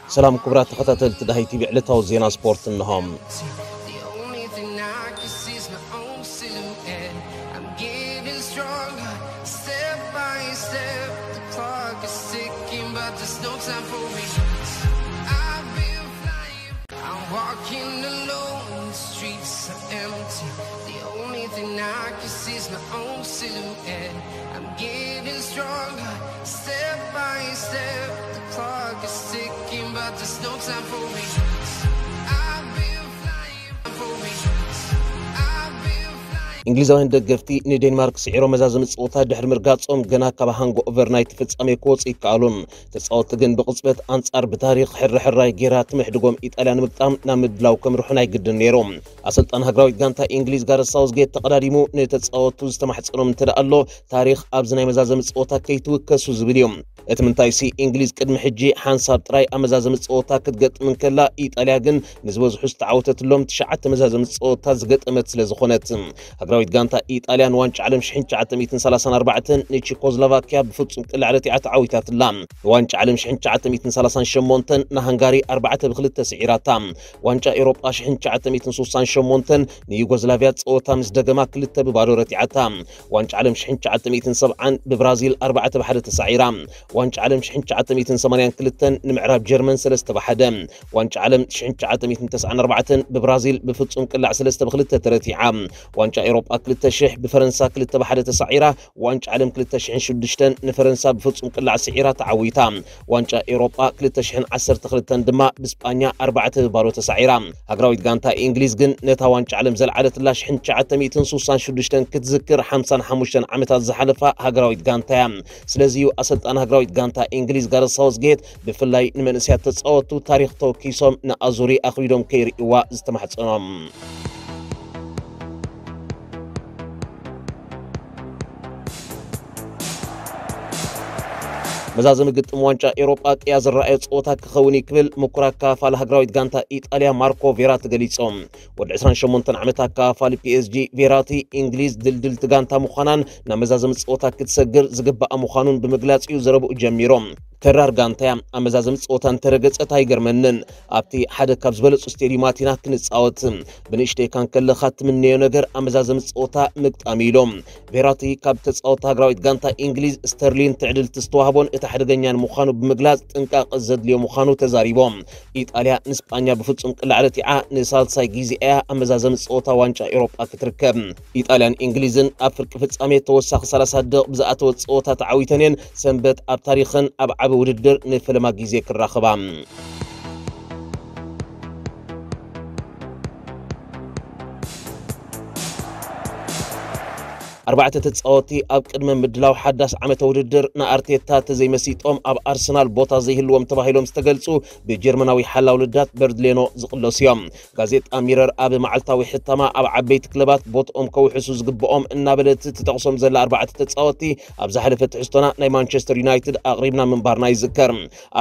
ሰላም ክቡራት ተኸታተልቲ ዳሃይ ቲቪ፣ ዕለታዊ ዜና ስፖርት እንሆ። The only thing I can see is my own silhouette. I'm getting stronger, step by step. The clock is ticking, but there's no time for me. I've been flying, I'm walking alone, the streets are empty. The only thing I can see is my own silhouette. I'm getting stronger, step by step. The clock is ticking, but there's no time for me. I've been flying for me. I've been flying. እንግሊዛውያን ደገፍቲ ንዴንማርክ ስዒሮም መዛዘሚ ጸወታ ድሕሪ ምርጋጾም ገና ካብ ሃንጎ ኦቨር ናይቲ ፍጻሜ ክወጹ ይከኣሉን። ተጻወትቲ ግን ብቕጽበት ኣንጻር ብታሪኽ ሕርሕራይ ጌራ ትምሕድጎም ኢጣልያ ንምግጣም ናብ ምድላው ከምርሑ ናይ ግድን ነይሩ። ኣሰልጣን ሃገራዊት ጋንታ እንግሊዝ ጋረስ ሳውዝጌት ተቐዳዲሙ ንተጻወቱ ዝተማሕጸኖም እንተ ደኣ ኣሎ፣ ታሪኽ ኣብዚ ናይ መዛዘሚ ጸወታ ከይትውከሱ ዝብል እዩ። እቲ ምንታይሲ እንግሊዝ ቅድሚ ሕጂ ሓንሳብ ጥራይ ኣብ መዛዘሚ ጸወታ ክትገጥም እንከላ፣ ኢጣልያ ግን ንዝበዝሑ ዝተዓወተትሎም ትሽዓተ መዛዘሚ ጸወታ ዝገጠመት ስለ ዝኾነት። ሃገራዊት ጋንታ ኢጣልያ ንዋንጫ ዓለም ሽሕን ትሽዓተ ሚእትን ሰላሳን ኣርባዕተን ንቺኮዝሎቫኪያ ብፍጹም ቅላዕ ረቲዓ ተዓዊታትላ። ንዋንጫ ዓለም ሽሕን ትሽዓተ ሚእትን ሰላሳን ሸሞንተን ንሃንጋሪ ኣርባዕተ ብክልተ ስዒራታ። ዋንጫ ኤውሮጳ ሽሕን ትሽዓተ ሚእትን ስሳን ሸሞንተን ንዩጎዝላቪያ ጸወታ ምስ ደገማ ክልተ ብባዶ ረቲዓታ። ዋንጫ ዓለም ሽሕን ትሽዓተ ሚእትን ሰብዓን ብብራዚል ኣርባዕተ ብሓደ ተሳዒራ። ዋንጫ ዓለም ሽሕን ትሽዓተ ሚእትን ሰማንያን ክልተን ንምዕራብ ጀርመን ሰለስተ ብሓደ። ዋንጫ ዓለም ሽሕን ትሽዓተ ሚእትን ተስዓን ኣርባዕተን ብብራዚል ብፍጹም ቅላዕ ሰለስተ ብክልተ ተረቲዓ። ዋንጫ ኤውሮጳ ክልተ ሽሕ ብፈረንሳ ክልተ ብሓደ ተሳዒራ። ዋንጫ ዓለም ክልተ ሽሕን ሽዱሽተን ንፈረንሳ ብፍጹም ቅላዕ ስዒራ ተዓዊታ። ዋንጫ ኤውሮጳ ክልተ ሽሕን ዓሰርተ ክልተን ድማ ብስጳኛ ኣርባዕተ ብባዶ ተሳዒራ። ሃገራዊት ጋንታ እንግሊዝ ግን ነታ ዋንጫ ዓለም ዘልዓለትላ ሽሕን ትሽዓተ ሚእትን ስሳን ሽዱሽተን ክትዝክር ሓምሳን ሓሙሽተን ዓመታት ዝሓለፋ ሃገራዊት ጋንታ እያ። ስለዚ እዩ ኣሰልጣን ሃገራዊት ጋንታ እንግሊዝ ጋረስ ሳውዝጌት ብፍላይ ንመንእሰያት ተጻወቱ ታሪኽ ተወኪሶም ንኣዙሪ ኣኽቢዶም ከይርእይዋ ዝተማሕጸኖም። መዛዘሚ ግጥም ዋንጫ ኤውሮጳ ቅያ ዝረኣዮ ጸወታ ክኸውን እዩ ክብል ምኩር ኣከፋፋሊ ሃገራዊት ጋንታ ኢጣልያ ማርኮ ቬራቲ ገሊጾም። ወዲ ዕስራን ሸሞንተን ዓመት ኣከፋፋሊ ፒኤስጂ ቬራቲ፣ እንግሊዝ ድልድልቲ ጋንታ ምዃናን ናብ መዛዘሚ ጸወታ ክትሰግር ዝግባኣ ምዃኑን ብምግላጽ እዩ ዘረብኡ ጀሚሮም። ተራር ጋንታ እያ፣ ኣብ መዛዘሚ ጸወታ እንተረገጸት ኣይገርመንን። ኣብቲ ሓደ ካብ ዝበለጹ ስቴድዩማት ኢና ክንጻወት። ብንእሽተይካ እንከለኻ ትምነዮ ነገር ኣብ መዛዘሚ ጸወታ ምግጣም እዩ ኢሎም። ቬራቲ ካብ ተጻወቲ ሃገራዊት ጋንታ እንግሊዝ ስተርሊን ትዕድልቲ ዝተዋህቦን እቲ ሓደገኛን ምዃኑ ብምግላጽ ጥንቃቐ ዘድልዮ ምዃኑ ተዛሪቦም። ኢጣልያ ንስጳኛ ብፍጹም ቅላዕ ረቲዓ ንሳልሳይ ግዜ እያ ኣብ መዛዘሚ ጸወታ ዋንጫ ኤውሮጳ ክትርከብ። ኢጣልያን እንግሊዝን ኣብ ፍርቂ ፍጻሜ ተወሳኺ ሰላሳ ደቕ ብዝኣተወ ጸወታ ተዓዊተን እየን ሰንበት ኣብ ታሪኽን ኣብ ዓቢ ውድድር ንፈለማ ግዜ ክራኸባ። ኣርባዕተ ተጻወቲ ኣብ ቅድመ ምድላው ሓዳስ ዓመተ ውድድር ንኣርቴታ ተዘይመሲጦም ኣብ ኣርሰናል ቦታ ዘይህልዎም ተባሂሎም ዝተገልጹ ብጀርመናዊ ሓላው ልዳት በርድሌኖ ዝቕለሱ እዮም። ጋዜጣ ሚረር ኣብ መዓልታዊ ሕታማ ኣብ ዓበይቲ ክለባት ቦትኦም ከውሕሱ ዝግብኦም እናበለት ትጠቕሶም ዘላ ኣርባዕተ ተጻወቲ ኣብ ዝሓለፈ ትሕዝቶና ናይ ማንቸስተር ዩናይትድ ኣቕሪብና ምንባርና ይዝከር።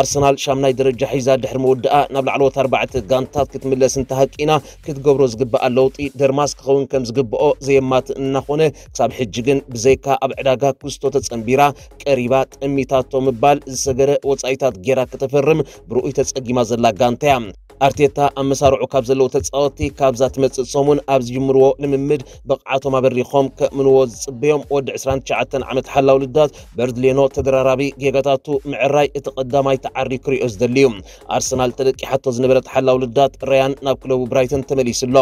ኣርሰናል ሻምናይ ደረጃ ሒዛ ድሕሪ ምውድኣ ናብ ላዕለዎት ኣርባዕተ ጋንታት ክትምለስ እንተሃቂና ክትገብሮ ዝግብኣ ለውጢ ደርማስ ክኸውን ከም ዝግብኦ ዘየማትእ እናኾነ ክሳብ ሕጂ ግን ብዘይካ ኣብ ዕዳጋ ኩስቶ ተጸንቢራ ቀሪባ ጠሚታቶ ምባል ዝሰገረ ወጻኢታት ጌራ ከተፈርም ብርኡይ ተጸጊማ ዘላ ጋንታ እያ። ኣርቴታ ኣብ መሳርዑ ካብ ዘለዉ ተጻወቲ ካብዛ ትመጽእ ሰሙን ኣብ ዝጅምርዎ ልምምድ ብቕዓቶም ኣበሪኾም ከእምንዎ ዝጽበዮም ወዲ ዕስራን ትሽዓተን ዓመት ሓላው ልዳት በርድሌኖ ተደራራቢ ጌጋታቱ ምዕራይ እቲ ቀዳማይ ተዓሪ ክሪኦ ዝደሊ እዩ። ኣርሰናል ተደቂሓቶ ዝነበረት ሓላው ልዳት ራያን ናብ ክለቡ ብራይተን ተመሊሱ ኣሎ።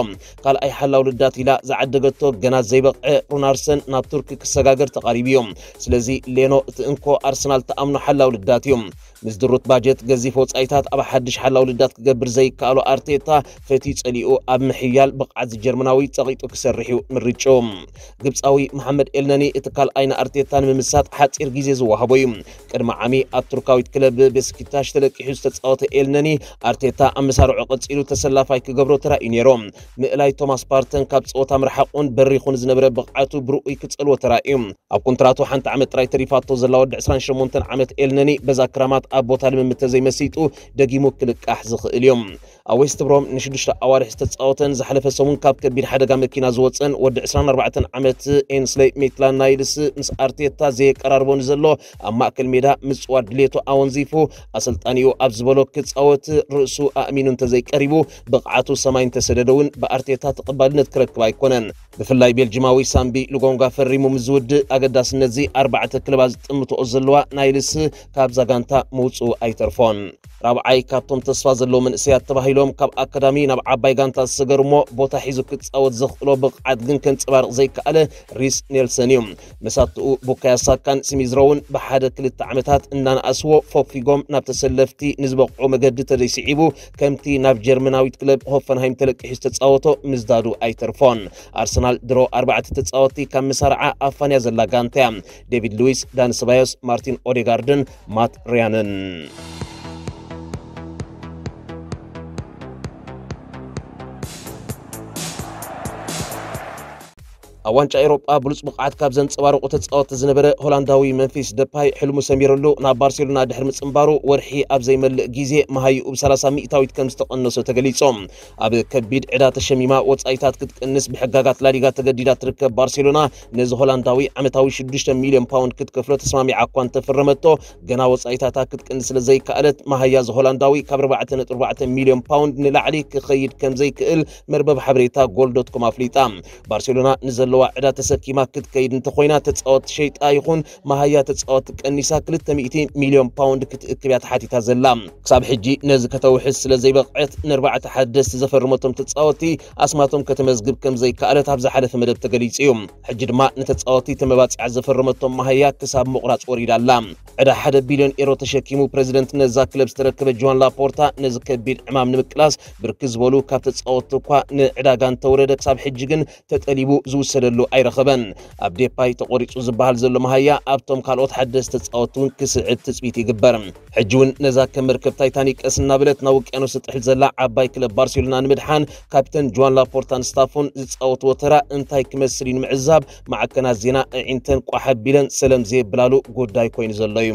ካልኣይ ሓላው ልዳት ኢላ ዝዓደገቶ ገና ዘይበቕዐ ሩናርሰን ናብ ቱርኪ ክሰጋገር ተቓሪቡ እዩ። ስለዚ ሌኖ እቲ እንኮ ኣርሰናል ተኣምኖ ሓላው ልዳት እዩ። ምስ ድሩት ባጀት ገዚፍ ወጻኢታት ኣብ ሓድሽ ሓላው ልዳት ክገብር ዘይከኣሎ ኣርቴታ ፈትዩ ጸሊኡ ኣብ ምሕያል ብቕዓት ጀርመናዊ ጸቒጡ ክሰርሕ እዩ ምርጭኡ። ግብጻዊ መሓመድ ኤልነኒ እቲ ካልኣይ ንኣርቴታ ንምምሳጥ ሓጺር ግዜ ዝወሃቦ እዩ። ቅድሚ ዓሚ ኣብ ቱርካዊት ክለብ ቤስኪታሽ ተለቂሑ ዝተጻወተ ኤልነኒ ኣርቴታ ኣብ መሳርዑ ቀጺሉ ተሰላፋይ ክገብሮ ተራእዩ ነይሩ። ምእላይ ቶማስ ፓርተን ካብ ጸወታ ምርሓቑን በሪኹን ዝነበረ ብቕዓቱ ብርኡይ ክጸልዎ ተራእዩ። ኣብ ኮንትራቱ ሓንቲ ዓመት ጥራይ ተሪፋቶ ዘላ ወዲ ዕስራን ሸሞንተን ዓመት ኤልነኒ በዛ ክራማት ኣብ ቦታ ልምምድ ተዘይመሲጡ ደጊሙ ክልቃሕ ዝኽእል እዩ። ኣብ ዌስት ብሮም ንሽዱሽተ ኣዋርሕ ዝተጻወተን ዝሓለፈ ሰሙን ካብ ከቢድ ሓደጋ መኪና ዝወጸን ወዲ ዕስራን ኣርባዕተን ዓመት ኤንስለይ ሜትላንድ ናይልስ፣ ምስ ኣርቴታ ዘየቀራርቦ ንዘሎ ኣብ ማእከል ሜዳ ምጽዋት ድሌቱ ኣወንዚፉ፣ ኣሰልጣኒኡ ኣብ ዝበሎ ክጻወት ርእሱ ኣእሚኑ እንተዘይቀሪቡ፣ ብቕዓቱ ሰማይ እንተሰደደ እውን ብኣርቴታ ተቐባልነት ክረክብ ኣይኮነን። ብፍላይ ቤልጂማዊ ሳምቢ ሉጎንጋ ፈሪሙ ምስ ዝውድእ፣ ኣገዳስነትዚ ኣርባዕተ ክለባት ዝጥምትኦ ዘለዋ ናይልስ ካብዛ ጋንታ ምውጽኡ ኣይተርፎን። ራብዓይ ካብቶም ተስፋ ዘለዎ መንእሰያት ተባሂሎም ካብ ኣካዳሚ ናብ ዓባይ ጋንታ ዝሰገሩ እሞ ቦታ ሒዙ ክጻወት ዘኽእሎ ብቕዓት ግን ከንጸባርቕ ዘይከኣለ ሪስ ኔልሰን እዩ። መሳትኡ ቡካዮ ሳካን ስሚዝ ሮውን ብሓደ ክልተ ዓመታት እናነኣስዎ ፈፊጎም ናብ ተሰለፍቲ ንዝበቕዑ መገዲ ተደይስዒቡ፣ ከምቲ ናብ ጀርመናዊት ክለብ ሆፈንሃይም ተለቂሑ ዝተጻወቶ ምዝዳዱ ኣይተርፎን። ኣርሰናል ድሮ ኣርባዕተ ተጻወትቲ ካብ መሳርዓ ኣፋንያ ዘላ ጋንታ እያ። ዴቪድ ሉዊስ፣ ዳኒ ሰባዮስ፣ ማርቲን ኦዴጋርድን ማት ሪያንን። ኣብ ዋንጫ ኤውሮጳ ብሉጽ ብቕዓት ካብ ዘንጸባረቑ ተጻወትቲ ዝነበረ ሆላንዳዊ መምፊስ ደፓይ፣ ሕልሙ ሰሚርሉ ናብ ባርሴሎና ድሕሪ ምጽንባሩ፣ ወርሒ ኣብ ዘይመልእ ግዜ መሃይኡ ብ ሰላሳ ሚእታዊት ከም ዝተቐነሶ ተገሊጹ። ኣብ ከቢድ ዕዳ ተሸሚማ ወጻኢታት ክትቅንስ ብሕጋጋት ላሊጋ ተገዲዳ ትርከብ ባርሴሎና፣ ነዚ ሆላንዳዊ ዓመታዊ ሽዱሽተ ሚልዮን ፓውንድ ክትከፍሎ ተስማሚዓ እኳ እንተፈረመቶ፣ ገና ወጻኢታታ ክትቅንስ ስለ ዘይከኣለት፣ መሃያ እዚ ሆላንዳዊ ካብ ኣርባዕተ ነጥቢ ኣርባዕተ ሚልዮን ፓውንድ ንላዕሊ ክኸይድ ከም ዘይክእል መርበብ ሓበሬታ ጎል ዶት ኮም ኣፍሊጣ። ባርሴሎና ንዘለዋ ዕዳ ተሰኪማ ክትከይድ እንተኾይና፣ ተጻወቲ ሸይጣ ይኹን መሃያ ተጻወቲ ቀኒሳ ክልተ ሚእቲ ሚልዮን ፓውንድ ክትእክብ እያ ተሓቲታ ዘላ። ክሳብ ሕጂ ነዚ ከተውሕስ ስለ ዘይበቕዐት፣ ንኣርባዕተ ሓደስቲ ዘፈረመቶም ተጻወቲ ኣስማቶም ከተመዝግብ ከም ዘይከኣለት ኣብ ዝሓለፈ መደብ ተገሊጹ እዩ። ሕጂ ድማ ንተጻወቲ ተመባጺዓ ዘፈረመቶም መሃያ ክሳብ ምቑራጽ ወሪዳ ኣላ። ዕዳ ሓደ ቢልዮን ኤሮ ተሸኪሙ ፕረዚደንትነት እዛ ክለብ ዝተረከበ ጆዋን ላፖርታ፣ ነዚ ከቢድ ዕማም ንምቅላስ ብርክት ዝበሉ ካብ ተጻወትቲ እኳ ንዕዳጋ እንተወረደ፣ ክሳብ ሕጂ ግን ተጠሊቡ ዝውሰደሉ ኣይረኸበን። ኣብ ዴፓይ ተቖሪጹ ዝበሃል ዘሎ መሃያ ኣብቶም ካልኦት ሓደስቲ ተጻወትቲ እውን ክስዕብ ትጽቢት ይግበር። ሕጂ እውን ነዛ ከም መርከብ ታይታኒክ ቀስ እናበለት ናብ ውቅያኖስ ትጥሕል ዘላ ዓባይ ክለብ ባርሴሎና ንምድሓን፣ ካፕተን ጆዋን ላፖርታን ስታፉን ዝጻወትዎ ተራ እንታይ ክመስል እዩ ንምዕዛብ፣ ማዕከናት ዜና ኣዒንተን ቋሕ ኣቢለን ሰለም ዘየብላሉ ጉዳይ ኮይኑ ዘሎ እዩ።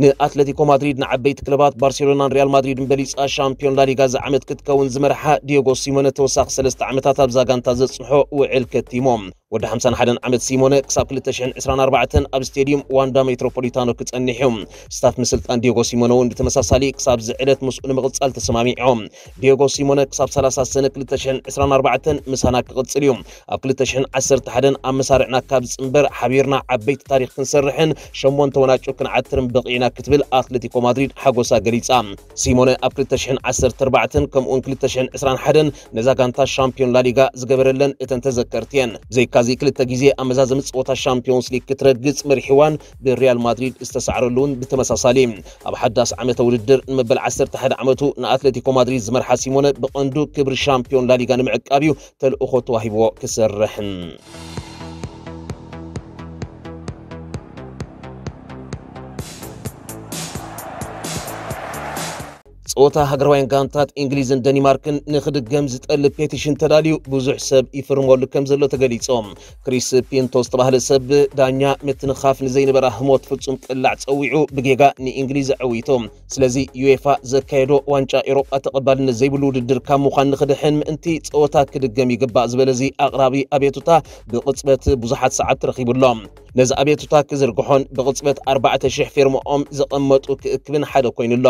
ንኣትሌቲኮ ማድሪድ ንዓበይቲ ክለባት ባርሴሎናን ሪያል ማድሪድን በሊጻ ሻምፒዮን ላሊጋ እዚ ዓመት ክትከውን ዝመርሓ ዲዮጎ ሲሞነ ተወሳኺ ሰለስተ ዓመታት ኣብዛ ጋንታ ዘጽንሖ ውዕል ከቲሞም። ወዲ ሓምሳን ሓደን ዓመት ሲሞነ ክሳብ ክልተ ሽሕን ዕስራን ኣርባዕተን ኣብ ስቴድዩም ዋንዳ ሜትሮፖሊታኖ ክጸንሕ እዩ። ስታፍ ምስልጣን ዲዮጎ ሲሞነ እውን ብተመሳሳሊ ክሳብ እዚ ዕለት ምስኡ ንምቕጻል ተሰማሚዖም። ዲዮጎ ሲሞነ ክሳብ ሰላሳ ሰነ ክልተ ሽሕን ዕስራን ኣርባዕተን ምሳና ክቕጽል እዩ። ኣብ ክልተ ሽሕን ዓሰርተ ሓደን ኣብ መሳርዕና ካብ ዝጽንበር ሓቢርና ዓበይቲ ታሪኽ ክንሰርሕን ሸሞንተ ዋንጫ ክንዓትርን በቒዕና ክትብል ኣትሌቲኮ ማድሪድ ሓጎሳ ገሊጻ። ሲሞነ ኣብ ክልተ ሽሕን ዓሰርተ ኣርባዕተን ከምኡውን ክልተ ሽሕን ዕስራን ሓደን ነዛ ጋንታ ሻምፒዮን ላሊጋ ዝገበረለን እተን ተዘከርቲ እየን። ብዘይካዚ ክልተ ግዜ ኣብ መዛዘሚ ጸወታ ሻምፒዮንስ ሊግ ክትረግጽ መሪሕዋን ብሪያል ማድሪድ ዝተሳዕረሉ እውን ብተመሳሳሊ። ኣብ ሓዳስ ዓመተ ውድድር ንመበል ዓሰርተ ሓደ ዓመቱ ንኣትሌቲኮ ማድሪድ ዝመርሓ ሲሞነ ብቐንዱ ክብሪ ሻምፒዮን ላሊጋ ንምዕቃብ እዩ ተልእኾ ተዋሂብዎ ክሰርሕን። ጸወታ ሃገራውያን ጋንታት እንግሊዝን ደኒማርክን ንኽድገም ዝጠልብ ፔቲሽን ተዳልዩ ብዙሕ ሰብ ይፍርመሉ ከም ዘሎ ተገሊጾም። ክሪስ ፒንቶ ዝተባህለ ሰብ ዳኛ ምትንኻፍ ንዘይነበራ ህሞት ፍጹም ቅላዕ ጸዊዑ ብጌጋ ንእንግሊዝ ኣዕዊቱ። ስለዚ ዩኤፋ ዘካየዶ ዋንጫ ኤውሮጳ ተቐባልነት ዘይብሉ ውድድር ካብ ምዃን ንኽድሕን ምእንቲ ጸወታ ክድገም ይግባእ ዝበለዚ ኣቕራቢ ኣቤቱታ ብቕጽበት ብዙሓት ሰዓብቲ ረኺቡሎ። ነዚ ኣቤቱታ ክዝርግሖን ብቕጽበት ኣርባዕተ ሽሕ ፌርማኦም ዘቐመጡ ክእክብን ሓደ ኮይኑሎ።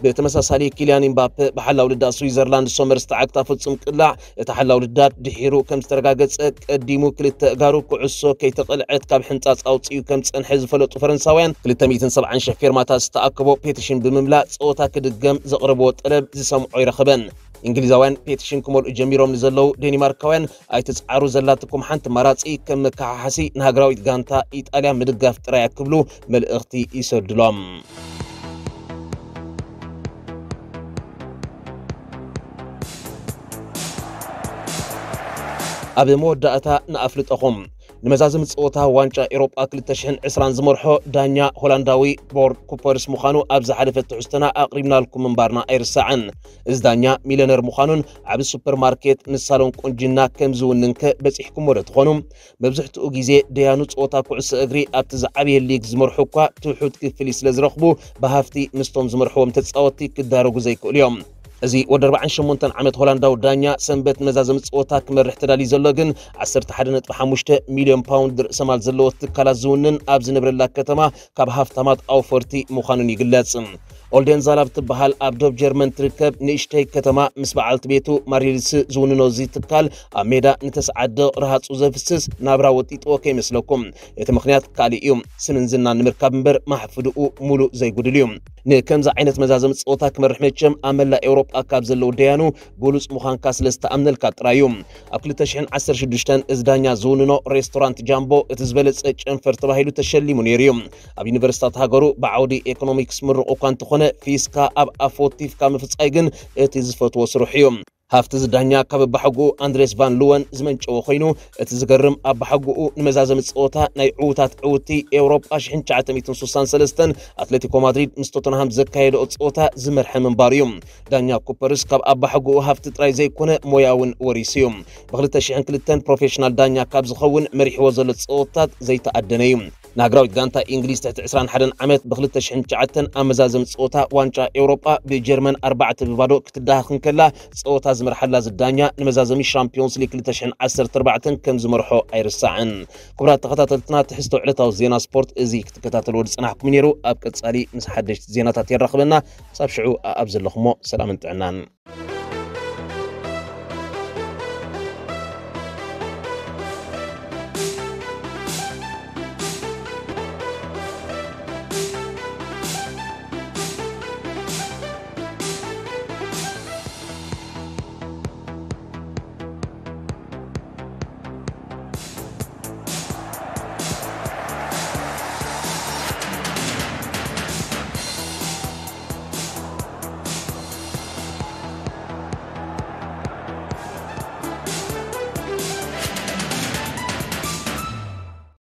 ብተመሳሳሊ ኪልያን ኢምባፔ ብሓላው ልዳት ስዊዘርላንድ ሶመር ዝተዓግታ ፍጹም ቅላዕ፣ እቲ ሓላው ልዳት ድሒሩ ከም ዝተረጋገጸ ቀዲሙ ክልተ እጋሩ ኩዕሶ ከይተቐልዐት ካብ ሕንጻጽ ኣውጺኡ ከም ዝጸንሐ ዝፈለጡ ፈረንሳውያን፣ ክልተ ሚእትን ሰብዓን ሽሕ ፌርማታት ዝተኣከቦ ፔቲሽን ብምምላእ ጸወታ ክድገም ዘቕረብዎ ጠለብ ዝሰምዖ ኣይረኸበን። እንግሊዛውያን ፔቲሽን ክመልኡ ጀሚሮም ንዘለዉ ዴኒማርካውያን ኣይትጽዓሩ፣ ዘላትኩም ሓንቲ ኣማራጺ ከም መከሓሓሲ ንሃገራዊት ጋንታ ኢጣልያ ምድጋፍ ጥራይ እያ ክብሉ መልእኽቲ ይሰዱሎም። ኣብ መወዳእታ ንኣፍልጠኹም። ንመዛዘሚ ጸወታ ዋንጫ ኤውሮጳ ክልተ ሽሕን ዕስራን ዝመርሖ ዳኛ ሆላንዳዊ ቦርድ ኩፐርስ ምዃኑ ኣብ ዝሓለፈ ትሕዝቶና ኣቕሪብናልኩም ምንባርና ኣይርሳዕን። እዚ ዳኛ ሚለነር ምዃኑን ዓቢ ሱፐርማርኬት ምስ ሳሎን ቁንጅና ከም ዝውንንከ በጺሕኩሞ ዶ ትኾኑ? መብዝሕትኡ ግዜ ደያኑ ጸወታ ኩዕሶ እግሪ ኣብቲ ዝዓበየ ሊግ ዝመርሑ እኳ ትሑት ክፍሊት ስለ ዝረኽቡ፣ ብሃፍቲ ምስቶም ዝመርሕዎም ተጻወትቲ ክዳረጉ ዘይክእሉ እዮም። እዚ ወዲ ኣርባዓን ሸሞንተን ዓመት ሆላንዳዊ ዳኛ ሰንበት መዛዘሚ ጸወታ ክመርሕ ተዳልዩ ዘሎ ግን ዓሰርተ ሓደ ነጥቢ ሓሙሽተ ሚልዮን ፓውንድ ርእሰማል ዘለዎ ትካላት ዝውንን ኣብ ዝነብረላ ከተማ ካብ ሃፍታማት ኣውፈርቲ ምዃኑን ይግለጽ። ኦልደንዛል ኣብ ትበሃል ኣብ ዶብ ጀርመን ትርከብ ንእሽተይ ከተማ ምስ በዓልቲ ቤቱ ማሪልስ ዝውንኖ እዚ ትካል ኣብ ሜዳ ንተስዓደ ረሃጹ ዘፍስስ ናብራ ወጢጥዎ ከይመስለኩም። እቲ ምኽንያት ካልእ እዩ። ስምን ዝናን ንምርካብ እምበር ማሕፍድኡ ሙሉእ ዘይጉድል እዩ። ንከምዚ ዓይነት መዛዘሚ ጸወታ ክመርሕ መቸም ኣብ መላእ ኤውሮጳ ካብ ዘለዉ ደያኑ ብሉጽ ምዃንካ ስለ ዝተኣምነልካ ጥራይ እዩ። ኣብ ክልተ ሽሕን ዓሰርተ ሽዱሽተን እዚ ዳኛ ዝውንኖ ሬስቶራንት ጃምቦ እቲ ዝበለጸ ጨንፈር ተባሂሉ ተሸሊሙ ነይሩ እዩ። ኣብ ዩኒቨርሲታት ሃገሩ ብዓውዲ ኤኮኖሚክስ ምሩቕ እኳ እንተኾነ ፊስካ ኣብ ኣፍ ወቲፍካ ምፍጻይ ግን እቲ ዝፈትዎ ስርሑ እዩ። ሃፍቲ እዚ ዳኛ ካብ ኣባሓጎኡ ኣንድሬስ ቫን ሉወን ዝመንጨወ ኮይኑ፣ እቲ ዝገርም ኣባሓጎኡ ንመዛዘሚ ጸወታ ናይ ዕዉታት ዕውቲ ኤውሮጳ ሽሕን ትሽዓተ ሚእትን ሱሳን ሰለስተን ኣትሌቲኮ ማድሪድ ምስ ቶተንሃም ዘካየደኦ ጸወታ ዝመርሐ ምንባሩ እዩ። ዳኛ ኩፐርስ ካብ ኣባሓጎኡ ሃፍቲ ጥራይ ዘይኮነ ሞያ እውን ወሪሱ እዩ። ብክልተ ሽሕን ክልተን ፕሮፌሽናል ዳኛ ካብ ዝኸውን መሪሕዎ ዘሎ ጸወታት ዘይተኣደነ እዩ። ንሃገራዊት ጋንታ እንግሊዝ ትሕቲ ዕስራን ሓደን ዓመት ብክልተ ሽሕን ትሽዓተን ኣብ መዛዘሚ ጸወታ ዋንጫ ኤውሮጳ ብጀርመን ኣርባዕተ ብባዶ ክትደሃኽ እንከላ፣ ጸወታ ዝመርሓላ ዝዳኛ ንመዛዘሚ ሻምፒዮንስ ሊግ ክልተ ሽሕን ዓሰርተ ኣርባዕተን ከም ዝመርሖ ኣይርሳዕን። ክቡራት ተኸታተልትና፣ ትሕዝቶ ዕለታዊ ዜና ስፖርት እዚ ክትከታተልዎ ዝጸናሕኩም ነይሩ። ኣብ ቀጻሊ ምስ ሓደሽቲ ዜናታት የራኽበና። ክሳብ ሽዑ ኣብ ዘለኹሞ ሰላምን ጥዕናን።